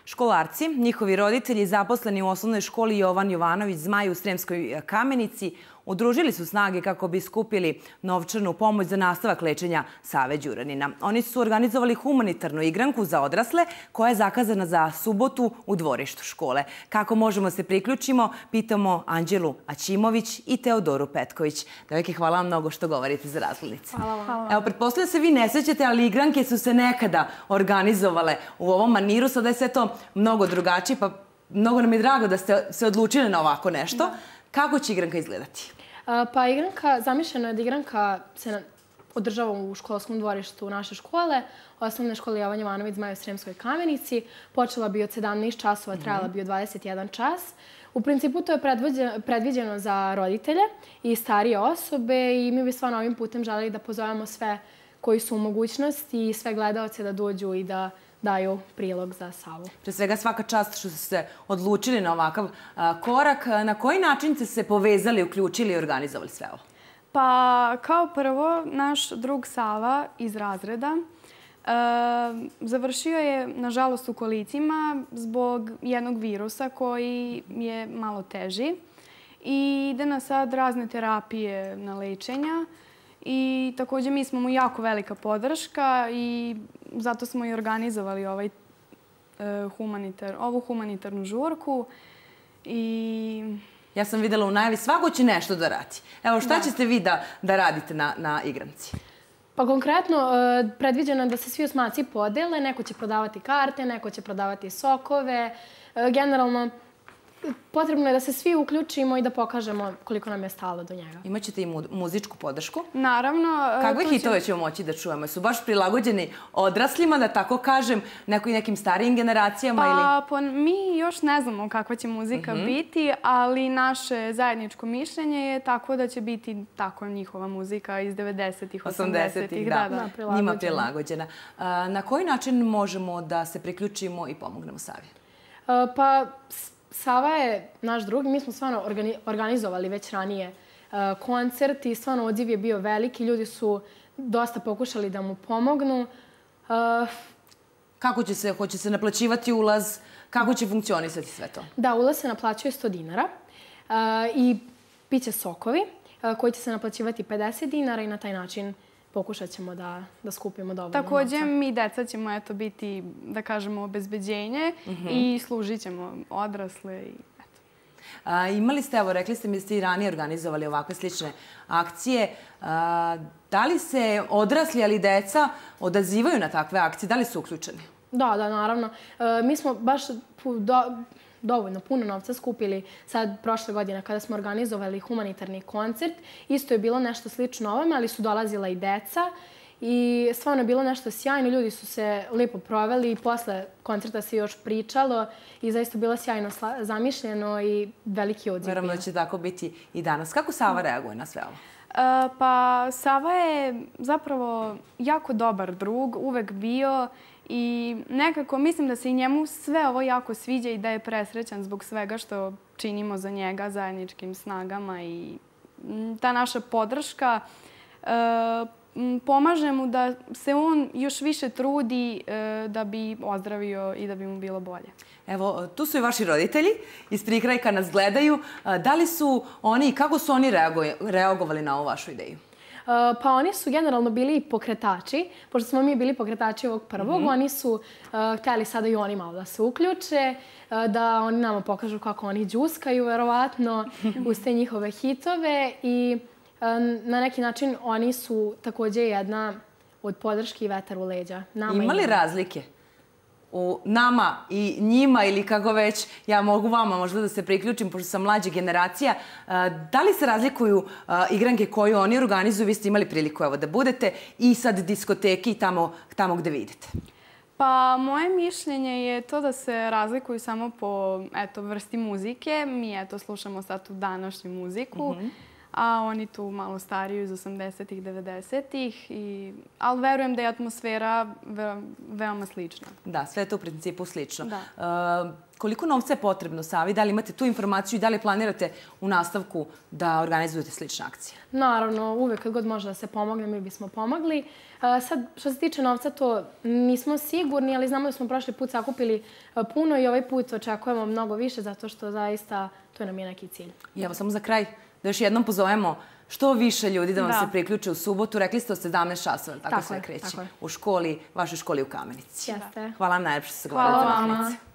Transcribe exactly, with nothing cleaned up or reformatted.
Školarci, njihovi roditelji, zaposleni u osnovnoj školi Jovan Jovanović Zmaj u Sremskoj Kamenici, udružili su snage kako bi skupili novčanu pomoć za nastavak lečenja Save Đuranina. Oni su organizovali humanitarnu igranku za odrasle koja je zakazana za subotu u dvorištu škole. Kako možemo se priključimo, pitamo Anđelu Aćimović i Teodoru Petković. Devojke, hvala vam mnogo što govorite za razglednice. Hvala vam. Evo, pretpostavljam se vi ne sećate, ali igranke su se nekada organizovale u ovom maniru. Sada je sve to mnogo drugačije, pa mnogo nam je drago da ste se odlučili na ovako nešto. Kako će igranka izgledati? Pa igranka, zamišljeno je da igranka se održava u školskom dvorištu naše škole, osnovne škole Jovan Jovanović Zmaj u Sremskoj Kamenici. Počela bi od sedamnaest časova, trajala bi od dvadeset jedan čas. U principu to je predviđeno za roditelje i starije osobe i mi bi stvarno ovim putem želeli da pozovemo sve koji su u mogućnosti i sve gledaoce da dođu i da daju prilog za Savu. Pre svega svaka čast što ste se odlučili na ovakav korak. Na koji način ste se povezali, uključili i organizovali sve ovo? Pa kao prvo, naš drug Sava iz razreda završio je, nažalost, u kolicima zbog jednog virusa koji je malo teži i ide na sad razne terapije na lečenja. I također mi smo mu jako velika podrška i zato smo i organizovali ovaj, uh, humanitar, ovu humanitarnu žurku. I... Ja sam videla u najavi, svako će nešto da radi. Evo, šta da. ćete vi da, da radite na, na igranci? Pa konkretno, uh, predviđeno je da se svi osmaci podele. Neko će prodavati karte, neko će prodavati sokove. Uh, generalno, potrebno je da se svi uključimo i da pokažemo koliko nam je stalo do njega. Imaćete i muzičku podršku? Naravno. Kakve hitove ćemo moći da čujemo? Su baš prilagođeni odraslima, da tako kažem, nekim starijim generacijama? Pa mi još ne znamo kakva će muzika biti, ali naše zajedničko mišljenje je tako da će biti tako njihova muzika iz devedesetih, osamdesetih. Da, njima prilagođena. Na koji način možemo da se priključimo i pomognemo Savi? Pa... Sava je naš drug. Mi smo stvarno organizovali već ranije koncert i stvarno odziv je bio veliki. Ljudi su dosta pokušali da mu pomognu. Kako će se, hoće se naplaćivati ulaz? Kako će funkcionisati sve to? Da, ulaz se naplaćuje sto dinara i piće sokovi koji će se naplaćivati pedeset dinara i na taj način pokušat ćemo da, da skupimo dovoljno novca. Također, mi deca ćemo eto, biti, da kažemo, obezbeđenje i služit ćemo odrasle. I, eto. A, imali ste, evo, rekli ste mi da ste i ranije organizovali ovakve slične akcije. A, da li se odrasli, ali i deca odazivaju na takve akcije? Da li su uključeni? Da, da, naravno. E, mi smo baš do, dovoljno puno novca skupili sad prošle godine kada smo organizovali humanitarni koncert. Isto je bilo nešto slično ovome, ali su dolazila i deca i stvarno je bilo nešto sjajno. Ljudi su se lijepo proveli i posle koncerta se još pričalo i zaista bilo sjajno zamišljeno i veliki odziv. Verujem da će tako biti i danas. Kako Sava reaguje na sve ovo? Uh, pa Sava je zapravo jako dobar drug, uvek bio. I nekako mislim da se i njemu sve ovo jako sviđa i da je presrećan zbog svega što činimo za njega zajedničkim snagama i ta naša podrška e, pomaže mu da se on još više trudi e, da bi ozdravio i da bi mu bilo bolje. Evo, tu su i vaši roditelji iz prikrajka nas gledaju. Da li su oni i kako su oni reagovali na ovu vašu ideju? Pa oni su generalno bili pokretači. Pošto smo mi bili pokretači ovog prvog, oni su htjeli sada i oni malo da se uključe, da oni nama pokažu kako oni džuskaju, verovatno, uz te njihove hitove. I na neki način oni su također jedna od podrški i vetar u leđa. Ima li razlike u nama i njima ili kako već, ja mogu vama možda da se priključim, pošto sam mlađa generacija, da li se razlikuju igranke koje oni organizuju? Vi ste imali priliku evo, da budete i sad diskoteki tamo, tamo gde vidite. Pa moje mišljenje je to da se razlikuju samo po eto, vrsti muzike. Mi eto, slušamo sad tu današnju muziku. Mm-hmm. A oni tu malo stariju iz osamdesetih, devedesetih. I... Ali verujem da je atmosfera ve... veoma slična. Da, sve je to u principu slično. Da. Uh, Koliko novca je potrebno, Savi? Da li imate tu informaciju i da li planirate u nastavku da organizujete slične akcije? Naravno, uvek kad god može da se pomogne, mi bismo pomogli. Sad, što se tiče novca, to nismo sigurni, ali znamo da smo prošli put sakupili puno i ovaj put očekujemo mnogo više, zato što zaista to nam je neki cilj. I evo, samo za kraj, da još jednom pozovemo što više ljudi da vam se priključe u subotu. Rekli ste od sedamnaest časova, tako sve kreće, u školi, vašoj školi u Kamenici. Jeste. Hvala vam najlepše što ste govorili za Kamenici.